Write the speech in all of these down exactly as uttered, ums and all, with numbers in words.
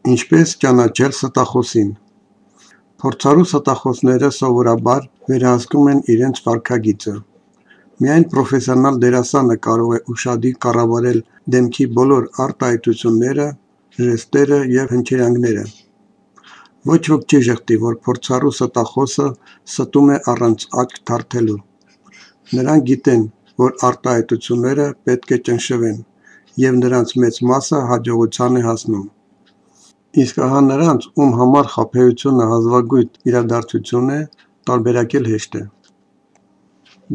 Ինչպես ճանաչել ստախոսին։ Փորձառու ստախոսները սովորաբար վերահսկում են իրենց վարքագիծը։ Միայն պրոֆեսիոնալ դերասանը կարող է ուշադիր կառավարել դեմքի բոլոր արտահայտությունները, ժեստերը և հնչերանգները։ Ոչ ոք չի ժխտի, որ փորձառու ստախոսը ստում է առանց աչք թարթելու։ Նրանք գիտեն, որ արտահայտությունները պետք է ճնշվեն, և նրանց մեծ մասը հաջողության է հասնում։ Իսկ ահա նրանց, ում համար խաբեությունը հազվագյուտ իրադարձություն է, տարբերակել հեշտ է։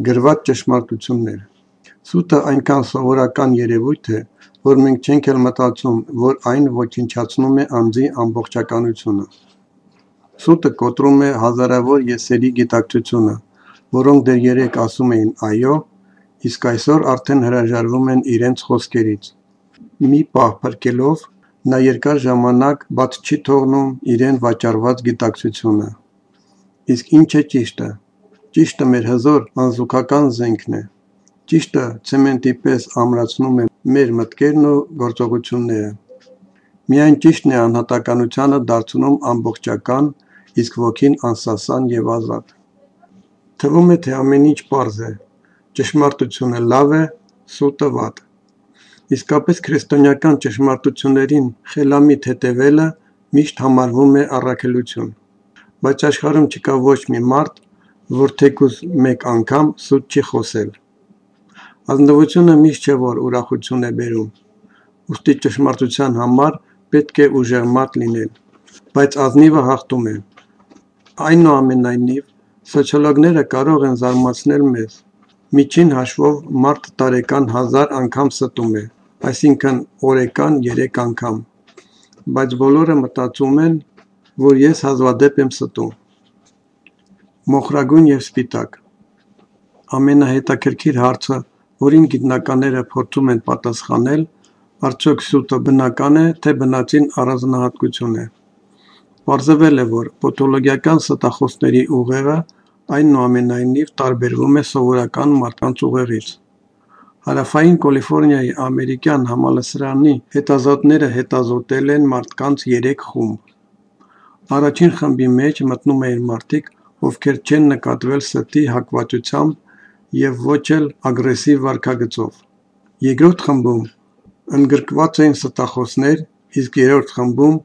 Գրված ճշմարտություններ։ Սուտը այնքան սովորական երևույթ է, որ մենք չենք էլ մտածում, որ այն ոչնչացնում է անձի ամբողջականությունը։ Սուտը կոտրում է հազարավոր եսերի գիտակցությունը, որոնք դեռ երեկ ասում էին այո, իսկ այսօր արդեն հրաժարվում են իրենց խոսքերից։ Մի պահ փրկելով, նա երկար ժամանակ բաց չի թողնում իրեն վաճառված գիտակցությունը։ Իսկ ի՞նչ է ճիշտը։ Ճիշտը մեր հզոր անզուգական զենքն է։ Ճիշտը ցեմենտի պես ամրացնում է մեր մտքերն ու գործողությունները։ Միայն ճիշտն է անհատականությանը դարձնում ամբողջական, իսկ ոգին անսասան և ազատ։ Թվում է, թե ամեն ինչ պարզ է։ Ճշմարտությունը լավ է, սուտը վատ։ Իսկապես քրիստոնեական ճշմարտություններին խելամիտ հետևելը միշտ համարվում է առաքելություն։ Բայց աշխարհում չկա ոչ մի մարդ, որ թեկուզ մեկ անգամ սուտ չի խոսել։ Ազնվությունը միշտ չէ, որ ուրախություն է բերում։ Ուստի ճշմարտության համար պետք է ուժեղ մարդ լինել։ Բայց ազնիվը հաղթում է։ Այնուամենայնիվ, սոցիոլոգները կարող են զարմացնել մեզ։ Միջին հաշվով մարդ տարեկան հազար անգամ ստում է, այսինքն օրեկան երեք անգամ։ Բայց բոլորը մտածում են, որ ես հազվադեպ եմ ստում։ Մոխրագույն և սպիտակ։ Ամենահետաքրքիր հարցը, որին գիտնականները փորձում են պատասխանել, արդյոք սուտը բնական է, թե բնածին առանձնահատկություն է։ Պարզվել է, որ պաթոլոգիական ստախոսների ուղեղը այնուամենայնիվ տարբերվում է սովորական մարդկանց ուղեղից։ Հարավային Կալիֆոռնիայի ամերիկյան համալսարանի հետազոտողները հետազոտել են մարդկանց երեք խումբ։ Առաջին խմբի մեջ մտնում էին մարդիկ, ովքեր չեն նկատվել ստի հակվածությամբ և ոչ էլ ագրեսիվ վարքագծով։ Երկրորդ խմբում ընդգրկված էին ստախոսներ, իսկ երրորդ խմբում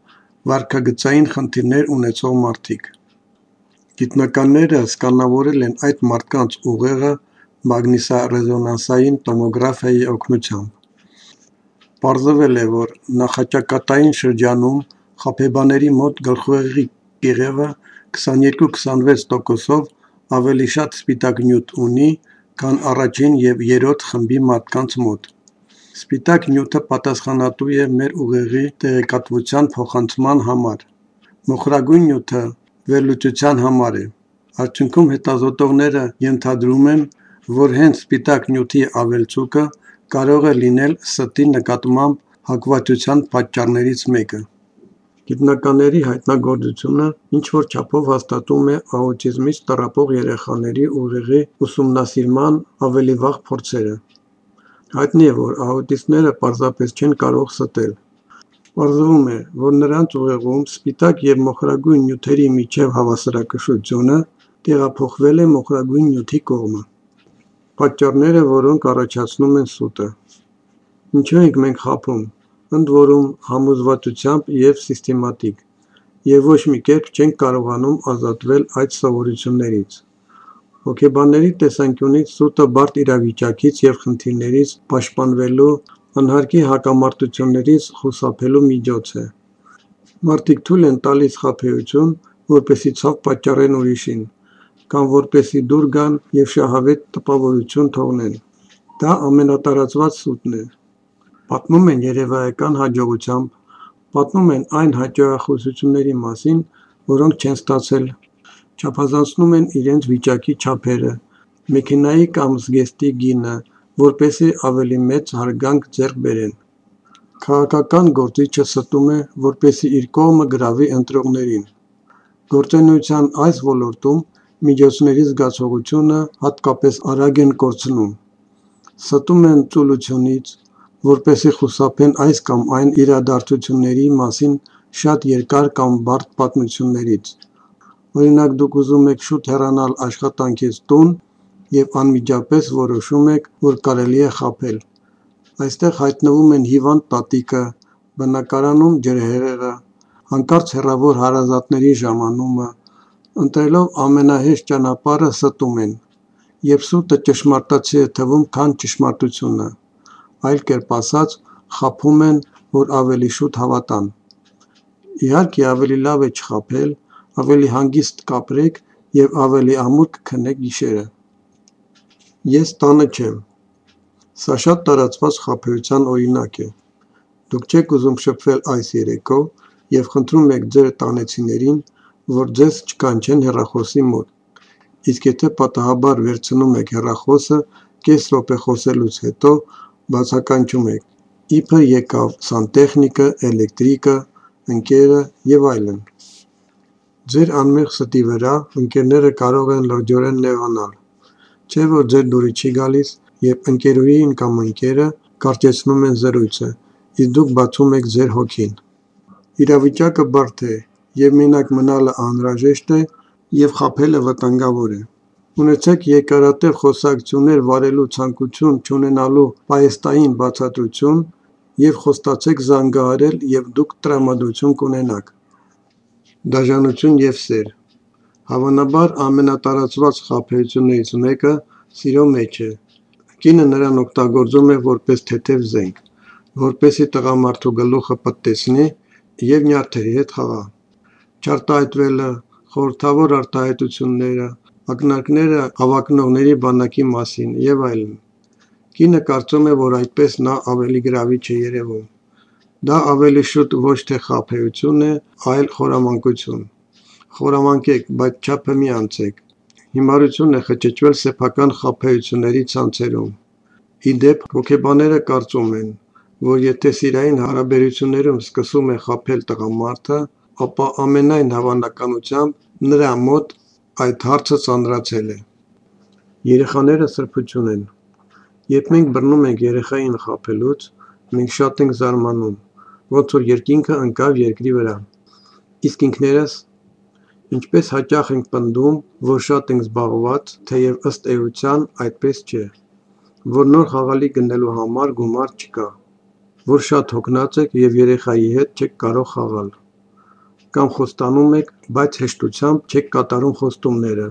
վարքագծային խնդիրներ ունեցող մարդիկ։ Գիտնականները սկանավորել են այդ մարդկանց ուղեղը մագնիսառեզոնանսային տոմոգրաֆիայի օգնությամբ։ Պարզվել է, որ նախաճակատային շրջանում խաբեբաների մոտ գլխուղեղի կեղևը քսաներկու-քսանվեց տոկոսով ավելի շատ սպիտակ նյութ ունի, քան առաջին և երրորդ խմբի մարդկանց մոտ։ Սպիտակ նյութը պատասխանատու է մեր ուղեղի տեղեկատվության փոխանցման համար։ Մոխրագույն նյութը վերլուծության համար է։ Արդյունքում հետազոտողները ենթադրում են, որ հենց սպիտակ նյութի ավելցուկը կարող է լինել ստի նկատմամբ հակվածության պատճառներից մեկը։ Գիտնականների հայտնագործությունը ինչ-որ չափով հաստատում է աուտիզմից տառապող երեխաների ուղեղի ուսումնասիրման ավելի վաղ փորձերը։ Հայտնի է, որ աուտիստները պարզապես չեն կարող ստել։ Պարզվում է, որ նրանց ուղեղում սպիտակ և մոխրագույն նյութերի միջև հավասարակշռությունը տեղափոխվել է մոխրագույն նյութի կողմը։ Պատճառները, որոնք առաջացնում են սուտը։ Ինչու ենք մենք խաբում, ընդ որում համոզվածությամբ և սիստեմատիկ, և ոչ մի կերպ չենք կարողանում ազատվել այդ սովորություններից։ Հոգեբանների տեսանկյունից սուտը բարդ իրավիճակից և խնդիրներից պաշտպանվելու, անհարկի հակամարտություններից խուսափելու միջոց է։ Մարդիկ թույլ են տալիս խաբեություն, որպեսզի ցավ պատճառեն ուրիշին, կամ որպեսզի դուր գան և շահավետ տպավորություն թողնեն։ Դա ամենատարածված սուտն է։ Պատմում են երևայական հաջողությամբ, պատմում են այն հաջողությունների մասին, որոնք չեն ստացել, չափազանցնում են իրենց վիճակի չափերը, մեքենայի կամ զգեստի գինը, որպեսզի ավելի մեծ հարգանք ձեռք բերեն։ Քաղաքական գործիչը ստում է, որպեսզի իր կողմը գրավի ընտրողներին։ Գործունեության այս ոլորտում միջոցների զգացողությունը հատկապես արագ են կորցնում։ Ստում են ծուլությունից, որպեսզի խուսափեն այս կամ այն իրադարձությունների մասին, շատ երկար կամ բարդ պատմություններից։ Օրինակ, դուք ուզում եք շուտ հեռանալ աշխատանքից տուն և անմիջապես որոշում եք, որ կարելի է խաբել։ Այստեղ հայտնվում են հիվանդ տատիկը, բնակարանում ջրհեղեղը, հանկարծ հեռավոր հարազատների ժամանումը, ընտրելով ամենահեշտ ճանապարհը ստում են, երբ սուտը ճշմարտացի է թվում, քան ճշմարտությունը, այլ կերպ ասած, խաբում են, որ ավելի շուտ հավատան։ Իհարկե, ավելի լավ է չխաբել, ավելի հանգիստ կապրեք և ավելի ամուր կքնեք գիշերը։ Ես տանը չեմ։ Սա շատ տարածված խաբեության օրինակ է։ Դուք չեք ուզում շփվել այս երեկո և խնդրում եք ձեր տանեցիներին, որ ձեզ չկանչեն հեռախոսի մոտ, իսկ եթե պատահաբար վերցնում եք հեռախոսը, կես րոպե խոսելուց հետո բացականչում եք. իբր եկավ սանտեխնիկը, էլեկտրիկը, ընկերը և այլն։ Ձեր անմեղ ստի վրա ընկերները կարող են լրջորեն նեղանալ, չէ՞ որ ձեր դուրը չի գալիս, և ընկերուհին կամ ընկերը կարճեցնում են զրույցը, իսկ դուք բացում եք ձեր հոգին։ Իրավիճակը բարդ է, և մենակ մնալը անհրաժեշտ է, և խաբելը վտանգավոր է։ Ունեցեք երկարատև խոսակցություններ վարելու ցանկություն չունենալու պահեստային բացատրություն և խոստացեք զանգահարել, և դուք տրամադրություն կունենաք։ Դաժանություն և սեր։ Հավանաբար ամենատարածված խաբեություններից մեկը սիրո մեջ է։ Կինը նրան օգտագործում է որպես թեթև զենք, որպեսզի տղամարդու գլուխը պտտեցնի և նյարդերի հետ խաղա։ Չարտահայտվելը, խորհրդավոր արտահայտությունները, ակնարկները հավակնողների բանակի մասին և այլն։ Կինը կարծում է, որ այդպես նա ավելի գրավիչ է երևում։ Դա ավելի շուտ ոչ թե խաբեություն է, այլ խորամանկություն։ Խորամանկեք, բայց չափը մի անցեք։ Հիմարություն է խճճվել սեփական խաբեությունների ցանցերում։ Ի դեպ, հոգեբանները կարծում են, որ եթե սիրային հարաբերություններում սկսում է խաբել տղամարդը, ապա ամենայն հավանականությամբ նրա մոտ այդ հարցը ծանրացել է։ Երեխաները սրբություն են։ Երբ մենք բռնում ենք երեխային խաբելուց, մենք շատ ենք զարմանում, ոնց որ երկինքը ընկավ երկրի վրա։ Իսկ ինքներս… Ինչպես հաճախ ենք պնդում, որ շատ ենք զբաղված, թեև ըստ էության այդպես չէ, որ նոր խաղալիք գնելու համար գումար չկա, որ շատ հոգնած եք և երեխայի հետ չեք կարող խաղալ, կամ խոստանում եք, բայց հեշտությամբ չեք կատարում խոստումները։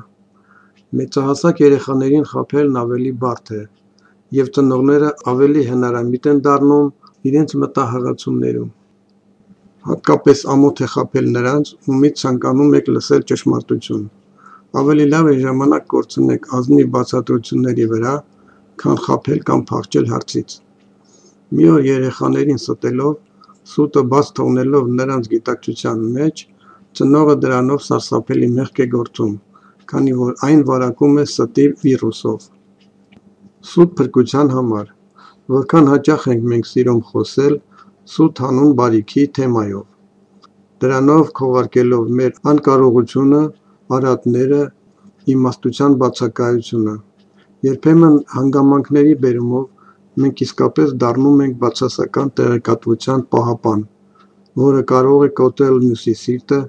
Մեծահասակ երեխաներին խաբելն ավելի բարդ է, և ծնողները ավելի հնարամիտ են դառնում իրենց մտահղացումներում։ Հատկապես ամոթ է խաբել նրանց, ումից ցանկանում եք լսել ճշմարտություն։ Ավելի լավ է ժամանակ կորցնեք ազնիվ բացատրությունների վրա, քան խաբել կամ փախչել հարցից։ Մի օր երեխաներին ստելով, սուտը բաց թողնելով նրանց գիտակցության մեջ, ծնողը դրանով սարսափելի մեղք է գործում, քանի որ այն վարակում է ստի վիրուսով։ Սուտ փրկության համար։ Որքան հաճախ ենք մենք սիրում խոսել սուտ հանուն բարիքի թեմայով, դրանով քողարկելով մեր անկարողությունը, արատները, իմաստության բացակայությունը։ Երբեմն հանգամանքների բերումով մենք իսկապես դառնում ենք բացասական տեղեկատվության պահապան, որը կարող է կոտրել մյուսի սիրտը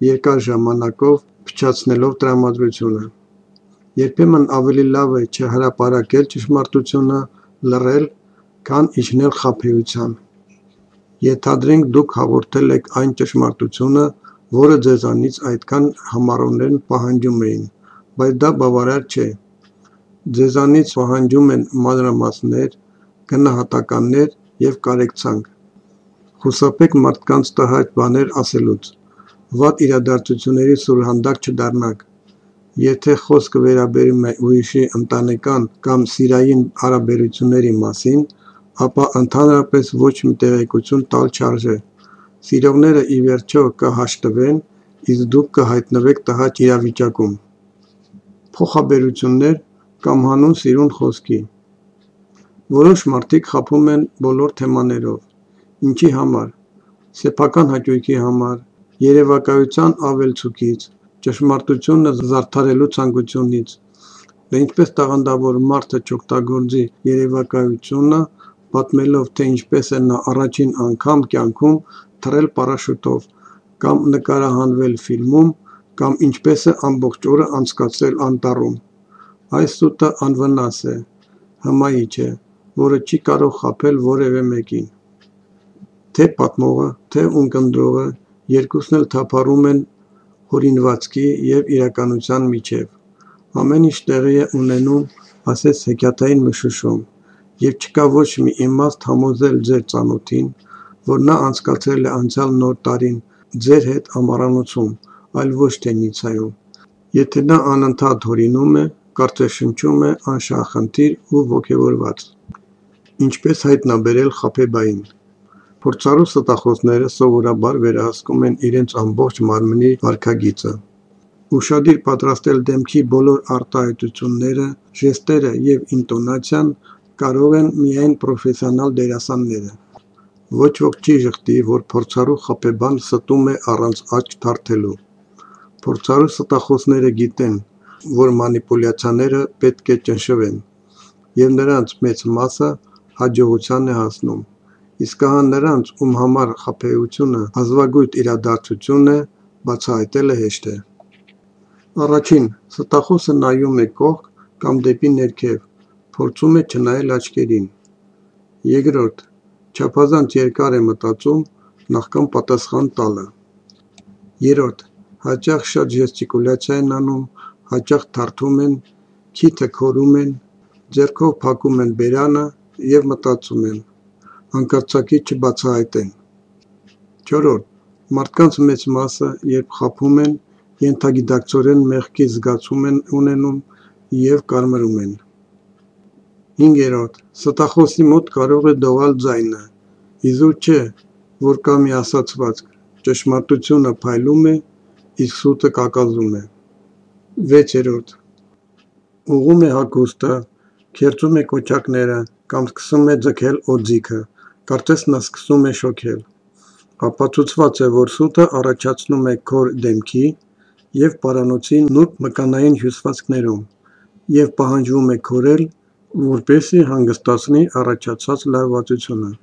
երկար ժամանակով փչացնելով տրամադրությունը։ Երբեմն ավելի լավ է չհրապարակել ճշմարտությունը, լռել, քան իջնել խաբեության։ Ենթադրենք դուք հաղորդել եք այն ճշմարտությունը, որը ձեզանից այդքան համառորեն պահանջում էին, բայց դա բավարար չէ։ Ձեզանից պահանջում են մանրամասներ, գնահատականներ և կարեկցանք։ Խուսափեք մարդկանց տհաճ բաներ ասելուց։ Վատ իրադարձությունների սուրհանդակ չդառնաք։ Եթե խոսքը վերաբերում է ուրիշի ընտանեկան կամ սիրային հարաբերությունների մասին, ապա ընդհանրապես ոչ մի տեղեկություն տալ չարժե։ Սիրողները ի վերջո կհաշտվեն, իսկ դուք կհայտնվեք տհաճ իրավիճակում։ Փոխաբերություններ կամ հանուն սիրուն խոսքի։ Որոշ մարդիկ խաբում են բոլոր թեմաներով։ Ինչի համար։ Սեփական հաճույքի համար, երևակայության ավելցուկից, ճշմարտությունը զարդարելու ցանկությունից։ Դե ինչպես տաղանդավոր մարդը չօգտագործի երևակայությունը, պատմելով, թե ինչպես է նա առաջին անգամ կյանքում թռել պարաշուտով, կամ նկարահանվել ֆիլմում, կամ ինչպես է ամբողջ օրը անցկացրել անտառում։ Այս սուտը անվնաս է, հմայիչ է, որը չի կարող խաբել որևէ մեկին։ Թե պատմողը, թե ունկնդրողը երկուսն էլ թափառում են հորինվածքի և իրականության միջև։ Ամեն ինչ տեղի է ունենում ասես հեքիաթային մշուշում, և չկա ոչ մի իմաստ համոզել ձեր ծանոթին, որ նա անցկացրել է անցյալ նոր տարին ձեր հետ ամառանոցում, այլ ոչ թե Նիցայում։ Եթե նա անընդհատ հորինում է, կարծես շնչում է անշահախնդիր ու ոգևորված։ Ինչպես հայտնաբերել խաբեբային։ Փորձառու ստախոսները սովորաբար վերահսկում են իրենց ամբողջ մարմնի վարքագիծը։ Ուշադիր պատրաստել դեմքի բոլոր արտահայտությունները, ժեստերը և ինտոնացիան կարող են միայն պրոֆեսիոնալ դերասանները։ Ոչ ոք չի ժխտի, որ փորձառու խաբեբան ստում է առանց աչք թարթելու։ Փորձառու ստախոսները գիտեն, որ մանիպուլյացիաները պետք է ճնշվեն, և նրանց մեծ մասը հաջողության է հասնում, իսկ ահա նրանց, ում համար խաբեությունը հազվագյուտ իրադարձություն է, բացահայտելը հեշտ է։ Առաջին՝ ստախոսը նայում է կողք կամ դեպի ներքև, փորձում է չնայել աչքերին։ Երկրորդ՝ չափազանց երկար է մտածում նախքան պատասխան տալը։ Երրորդ՝ հաճախ շատ ժեստիկուլյացիա են անում, հաճախ թարթում են, քիթը քորում են, ձեռքով փակում են բերանը և մտածում են՝ հանկարծակի չբացահայտեն։ Չորրորդ՝ մարդկանց մեծ մասը, երբ խաբում են, ենթագիտակցորեն մեղքի զգացում են ունենում և կարմրում են։ Հինգերորդ՝ ստախոսի մոտ կարող է դողալ ձայնը, իզուր չէ, որ կա մի ասացվածք՝ ճշմարտությունը փայլում է, իսկ սուտը կակազում է։ Վեցերորդ՝ ուղղում է հագուստը, քերծում է կոճակները կամ սկսում է ձգել օձիքը, կարծես նա սկսում է շոգել։ Ապացուցված է, որ սուտը առաջացնում է քոր դեմքի և պարանոցի նուրբ մկանային հյուսվածքներում և պահանջվում է քորել, որպեսզի հանգստացնի առաջացած լարվածությունը։